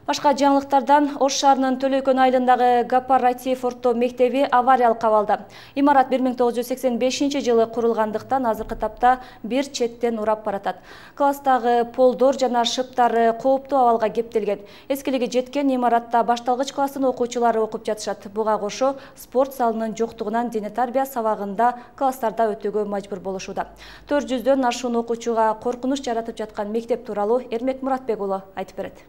Башка жаңылыктардан Ош шаарынын Төлөйкөн айылындагы Кооператив орто мектеби авариялыкка калды. Имарат 1985-жылы курулгандыктан азыркы тапта бир четтен урап баратат. Класстагы полдор жана шыптары кооптуу абалга кептелген. Эскилиги жеткен имаратта башталгыч класстын окуучулары окуп жатышат. Буга кошо спорт залынын жоктугунан дене тарбия сабагында класстарда өтүүгө мажбур болушууда. 400дөн ашуун окуучуга коркунуч жаратып жаткан мектеп тууралуу Эрмек Муратбек уулу айтып берет.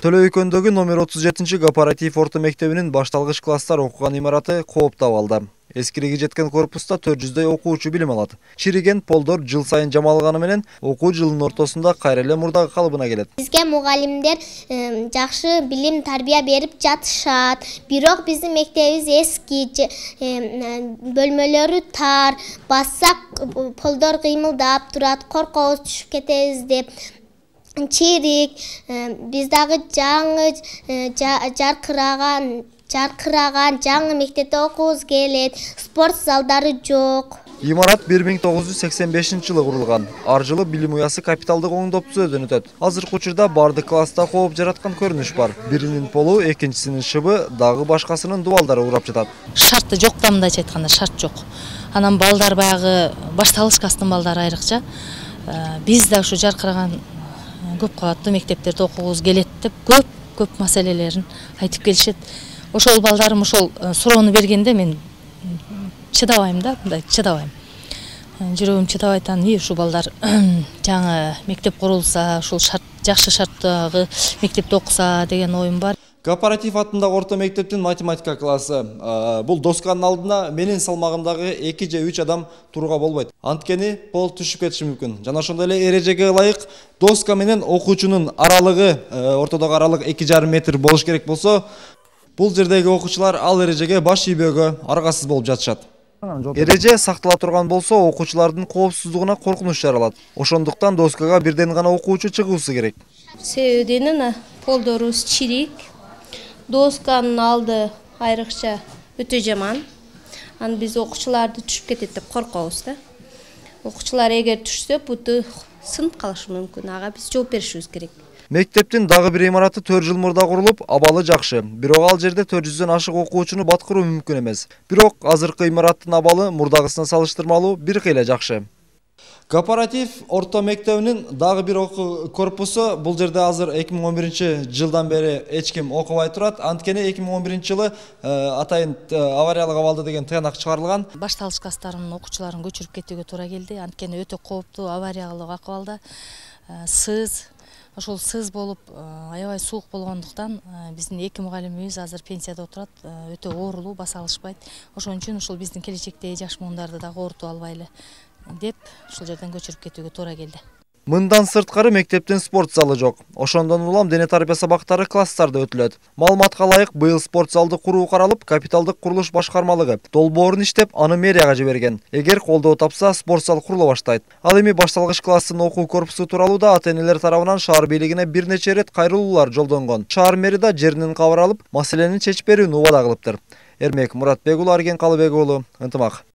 Төлөйкөндөгү номер 37 Кооператив орто мектебинин башталгыч класстар окуган имараты кооптуу абалда. Эскилиги жеткен корпуста 400дөй окуучу билим алат. Чириген полдор жыл сайын жамалганы менен окуу жылынын ортосунда кайра эле мурдагы калыбына келет. Бизге мугалимдер жакшы билим тарбия берип жатышат. Бирок биздин мектебибиз эски, бөлмөлөрү тар, бассак полдор кыймылдап турат, коркобуз түшүп кетебиз деп. Чирик, биз дагы жаңы жаркыраган жаңы мектепте окуубуз келет. Спорт залдары жок. Имарат 1985-жылы курулган. Ар жылы билим уясы капиталдык оңдоп түзүүдөн өтөт. Азыркы учурда бардык класста кооп жараткан көрүнүш бар. Биринин полу, экинчисинин шыбы, дагы башкасынын дубалдары урап жатат. Шарты жок, мындайча айтканда шарт жок. Анан балдар баягы башталгыч класстын балдары айрыкча. Биз да ушу жаркыраган көп кабаттуу мектептерде окугубуз келет деп көп маселелерин айтып келишет. Ошол балдарым ошол суроону бергенде мен чыдабайм да, мындай чыдабайм. Жүрөгүм чыдабай атан, ушул балдар жаңы мектеп курулса, ушул жакшы шарттагы мектепте окуса деген оюм бар. Кооператив атындагы орто мектептин математика классы. Бул досканын алдына менин салмагымдагы 2 же 3 адам турууга болбойт. Анткени пол түшүп кетиши мүмкүн. Жана ошондой эле эрежеге ылайык доска менен окуучунун аралыгы, ортодогу аралык 2,5 метр болуш керек болсо, бул жердеги окуучулар ал эрежеге баш ийбөөгө аргасыз болуп жатышат. Эреже сактала турган болсо, окуучулардын коопсуздугуна коркунуч жаралат. Ошондуктан доскага бирден гана окуучу чыгуусу керек. Себебинен полдорубуз чирик. Досканын алды айрыкча өтө жаман. Аны биз окуучуларды түшүп кетет деп коркобуз да. Окуучулар эгер түшсө, буту сынып калышы мүмкүн. Ага биз жооп беришибиз керек. Мектептин дагы бир имараты 4 жыл мурда курулуп, абалы жакшы. Бирок ал жерде 400дөн ашык окуучуну баткыруу мүмкүн эмес. Бирок азыркы имараттын абалы мурдагысына салыштырмалуу бир кыйла жакшы. Кооператив орто мектебинин дагы бир корпусу бул жерде азыр 2011-жылдан бери эч ким окубай турат. Анткени 2011-жылы атайын авариялык абалда деген тыянак чыгарылган. Башталгыч класстардын окуучуларын көчүрүп кетүүгө туура келди. Анткени өтө кооптуу авариялык акыбалда ошол сыз болуп аябай суук болгондуктан биздин 2 мугалимибиз азыр пенсияда отурат, өтө оорулуу, баса алышпайт. Ошон үчүн ушул биздин келечектеги жаш муундарды дагы оорутуп албайлы деп ушул жерден көчүрүп кетүүгө туура келди. Мындан сырткары мектептин спорт залы жок. Ошондон улам дене тарбия сабактары класстарда өтүлөт. Маалыматка ылайык, быйыл спорт залды куруу каралып, капиталдык курулуш башкармалыгы долбоорун иштеп, аны мэрияга жиберген. Эгер колдоо тапса, спорт зал курула баштайт. Ал эми башталгыч класстын окуу корпусу тууралуу да ата-энелер тарабынан шаар бийлигине бир нече ирет кайрылуулар жолдонгон. Шаар мэри да жеринен кабар алып, маселени чечип берүүнү убада кылыптыр. Эрмек Муратбек уулу, Арген Калыбек уулу, Ынтымак.